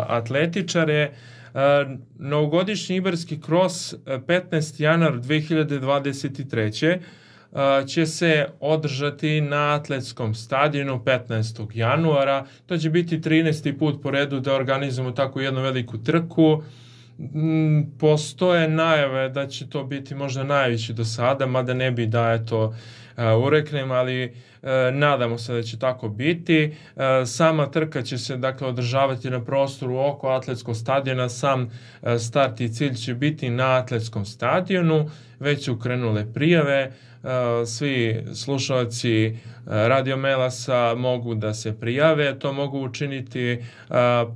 atletičare. Novogodišnji Ibarski kros 15. januar 2023. Će se održati na atletskom stadionu 15. januara. To će biti 13. put po redu da organizujemo takvu jednu veliku trku. Postoje najave da će to biti možda najveći do sada, mada ne bi da ureknem, ali nadamo se da će tako biti. Sama trka će se dakle održavati na prostoru oko atletskog stadiona. Sam start i cilj će biti na atletskom stadionu. Već su krenule prijave. Svi slušalci Radio Melasa mogu da se prijave. To mogu učiniti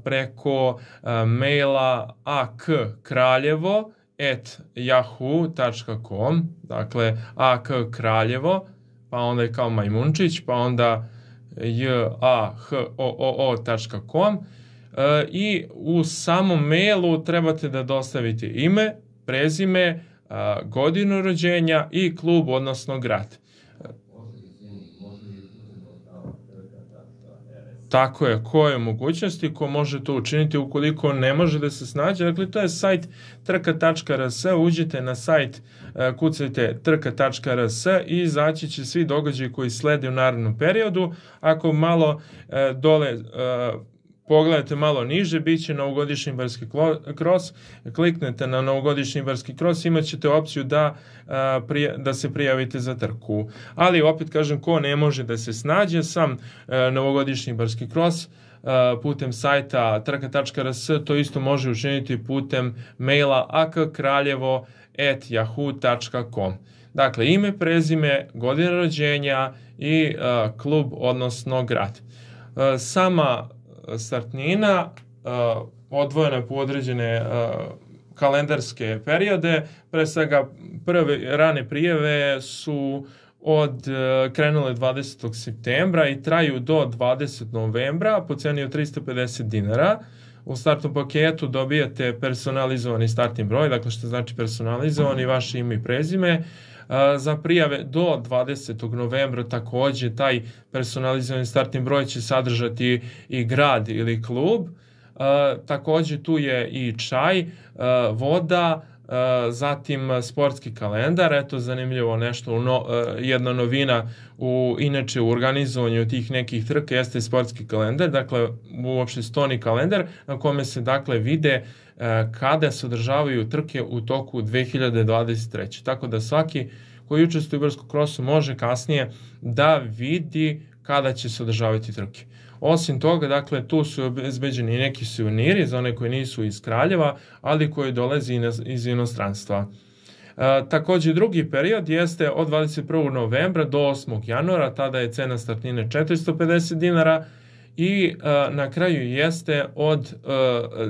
preko maila akkraljevo@yahoo.com, dakle akkraljevo, pa onda je kao majmunčić, pa onda jahoo.com, i u samom mailu trebate da dostavite ime, prezime, godinu rođenja i klub, odnosno grad. Tako je, koje mogućnosti, ko može to učiniti ukoliko ne može da se snađe. Dakle, to je sajt trka.rs, uđite na sajt, kucajte trka.rs i izaći će svi događaji koji slede u narednom periodu. Ako malo dole pogledajte malo niže, bit će novogodišnji Ibarski kros, kliknete na novogodišnji Ibarski kros, imat ćete opciju da se prijavite za trku. Ali opet kažem, ko ne može da se snađe, sam novogodišnji Ibarski kros putem sajta trka.rs, to isto može učiniti putem maila akkraljevo@yahoo.com. Dakle, ime, prezime, godina rođenja i klub, odnosno grad. Sama startnina odvojena po određene kalendarske periode. Pre svega, prve rane prijave su krenule 20. septembra i traju do 20. novembra po ceni od 350 dinara. U startnom paketu dobijate personalizovani startni broj, dakle što znači personalizovani, vaše ime i prezime. Za prijave do 20. novembra takođe taj personalizovani startni broj će sadržati i grad ili klub. Takođe tu je i čaj, voda, zatim sportski kalendar. Eto, zanimljivo nešto, jedna novina inače u organizovanju tih nekih trka jeste sportski kalendar, dakle uopšte stoni kalendar na kome se dakle vide kada se održavaju trke u toku 2023. Tako da svaki koji učestvuje u Ibarskom krosu može kasnije da vidi kada će se održavati trke. Osim toga, dakle, tu su obezbeđeni neki suveniri za one koji nisu iz Kraljeva, ali koji dolazi iz inostranstva. Takođe, drugi period jeste od 21. novembra do 8. januara, tada je cena startnine 450 dinara i na kraju jeste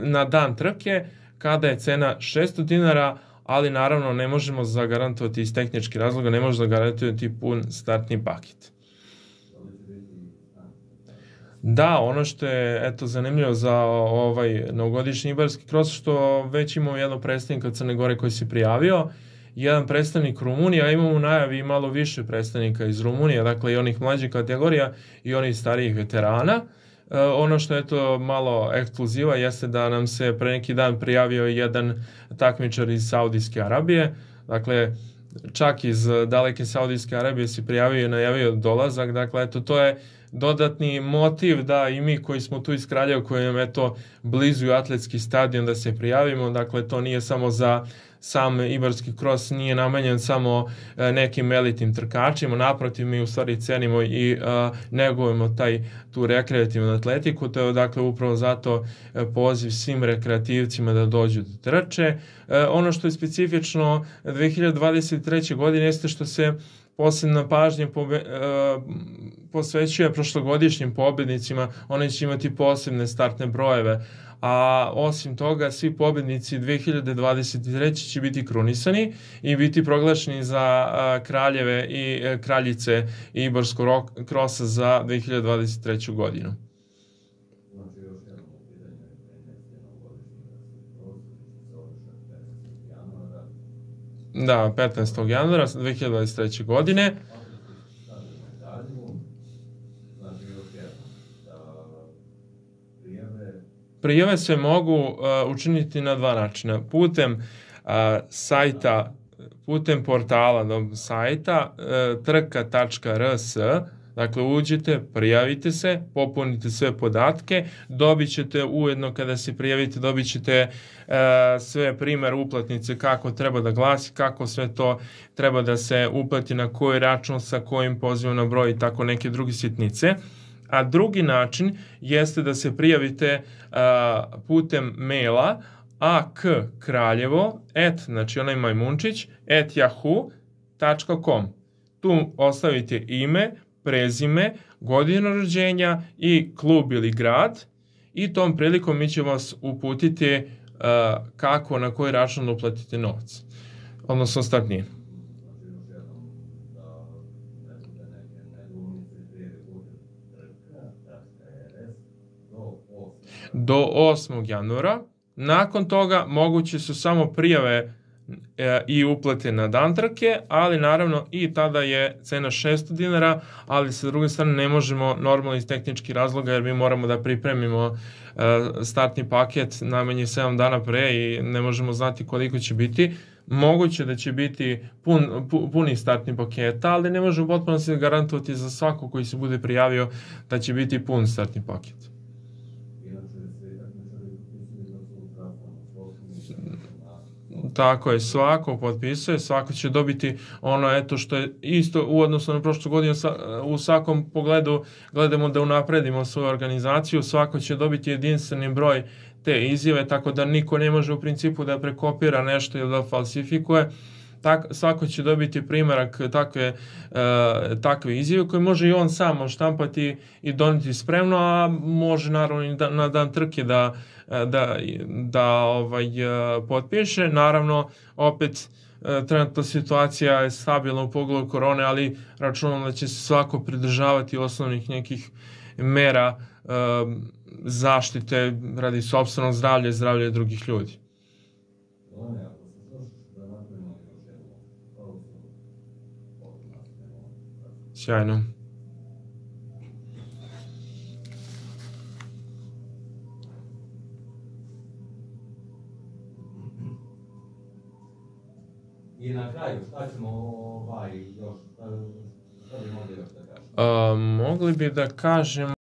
na dan trke, kada je cena 600 dinara, ali naravno ne možemo zagarantovati iz tehničkih razloga, ne možemo zagarantovati pun startni paket. Da, ono što je zanimljivo za novogodišnji Ibarski kros, što već imamo jednog predstavnika od Crne Gore koji se prijavio, jedan predstavnik Rumunije, a imamo u najavi malo više predstavnika iz Rumunije, dakle i onih mlađih kategorija i onih starijih veterana. Ono što je malo ekskluziva jeste da nam se pre neki dan prijavio jedan takmičar iz Saudijske Arabije, dakle čak iz daleke Saudijske Arabije se prijavio i najavio dolazak, dakle eto to je dodatni motiv da i mi koji smo tu iz Kraljeva, koji nam blizu atletski stadion, da se prijavimo. Dakle, to nije samo za sam Ibarski kros, nije namenjen samo nekim elitnim trkačima, naprotiv, mi u stvari cenimo i negujemo tu rekreativnu atletiku, to je dakle upravo zato poziv svim rekreativcima da dođu do trče. Ono što je specifično 2023. godine jeste što se posebna pažnja posvećuje prošlogodišnjim pobednicima, oni će imati posebne startne brojeve, a osim toga svi pobednici 2023. će biti krunisani i biti proglašeni za kraljeve i kraljice Ibarskog krosa za 2023. godinu. Da, 15. januara 2023. godine. Prijave se mogu učiniti na dva načina. Putem sajta, putem portala sajta trka.rs, dakle uđete, prijavite se, popunite sve podatke, dobit ćete ujedno kada se prijavite, dobit ćete sve primjer uplatnice kako treba da glasi, kako sve to treba da se uplati, na koji račun, sa kojim pozivom na broj i tako neke druge sitnice. A drugi način jeste da se prijavite putem maila akkraljevo, znači onaj majmunčić, @yahoo.com. Tu ostavite ime, prezime, godinu rođenja i klub ili grad i tom prilikom mi ćemo vas uputiti kako, na koji račun uplatite novac, odnosno startninu. Do 8. januara. Nakon toga moguće su samo prijave i uplate na dan trke, ali naravno i tada je cena 600 dinara, ali sa druge strane ne možemo normalno iz tehničkih razloga jer mi moramo da pripremimo startni paket najmanje 7 dana pre i ne možemo znati koliko će biti. Moguće da će biti puni startni paketa, ali ne možemo potpuno se garantovati za svako koji se bude prijavio da će biti pun startni paket. Tako je, svako potpisuje, svako će dobiti ono eto što je isto u odnosu na prošlu godinu, u svakom pogledu gledamo da unapredimo svoju organizaciju, svako će dobiti jedinstveni broj te izjave, tako da niko ne može u principu da prekopira nešto ili da falsifikuje. Svako će dobiti primjerak takve izjave koje može i on sam štampati i doneti spremno, a može naravno i na dan trke da potpiše. Naravno, opet trenutna situacija je stabilna u pogledu korone, ali računam da će se svako pridržavati osnovnih nekih mera zaštite radi sopstvenog zdravlja i zdravlja drugih ljudi. Sjajno. I na kraju, šta ćemo još, šta bi mogli još da kažemo? Mogli bi da kažemo